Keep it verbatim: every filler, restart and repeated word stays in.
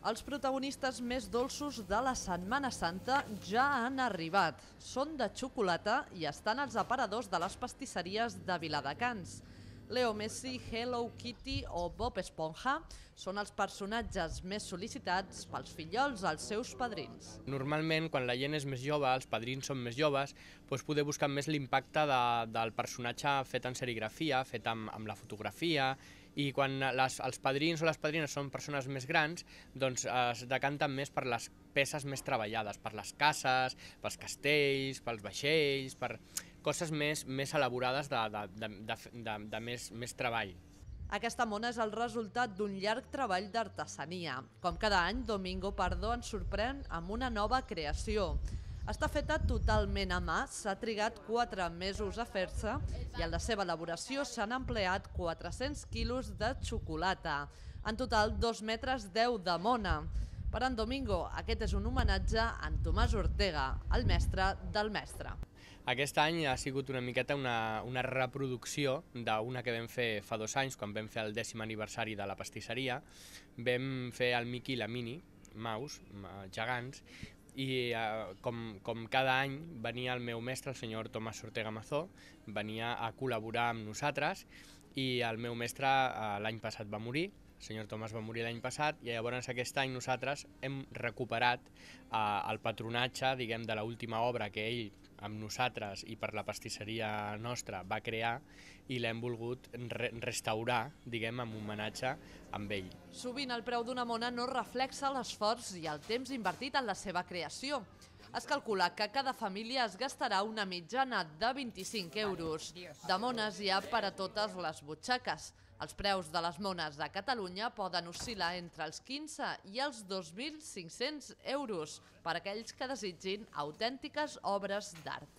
Els protagonistes més dolços de la Setmana Santa ja han arribat. Són de xocolata i estan als aparadors de les pastisseries de Viladecans. Leo Messi, Hello Kitty o Bob Esponja són els personatges més sol·licitats pels fillols als seus padrins. Normalment, quan la gent és més jove, els padrins són més joves, doncs poder buscar més l'impacte de, del personatge fet en serigrafia, fet amb, amb la fotografia, i quan les, els padrins o les padrines són persones més grans, doncs es decanten més per les peces més treballades, per les cases, pels castells, pels vaixells, per coses més, més elaborades de, de, de, de, de, de més, més treball. Aquesta mona és el resultat d'un llarg treball d'artesania. Com cada any, Domingo Pardo ens sorprèn amb una nova creació. Està feta totalment a mà, s'ha trigat quatre mesos a fer-se i en la seva elaboració s'han empleat quatre-cents quilos de xocolata. En total, dos metres deu de mona. Per en Domingo, aquest és un homenatge a en Tomàs Ortega, el mestre del mestre. Aquest any ha sigut una miqueta una, una reproducció d'una que vam fer fa dos anys, quan vam fer el dècim aniversari de la pastisseria. Vam fer el Mickey i la Minnie, Mouse, gegants, i eh, com, com cada any venia el meu mestre, el senyor Tomàs Ortega Mazó, venia a col·laborar amb nosaltres, i el meu mestre eh, l'any passat va morir. El senyor Tomàs va morir l'any passat i llavors aquest any nosaltres hem recuperat eh, el patronatge, diguem, de l'última obra que ell amb nosaltres i per la pastisseria nostra va crear, i l'hem volgut re restaurar, diguem, amb homenatge amb ell. Sovint el preu d'una mona no reflexa l'esforç i el temps invertit en la seva creació. Es calcula que cada família es gastarà una mitjana de vint-i-cinc euros. De mones hi ha per a totes les butxaques. Els preus de les mones a Catalunya poden oscil·lar entre els quinze i els dos mil cinc-cents euros per a aquells que desitgin autèntiques obres d'art.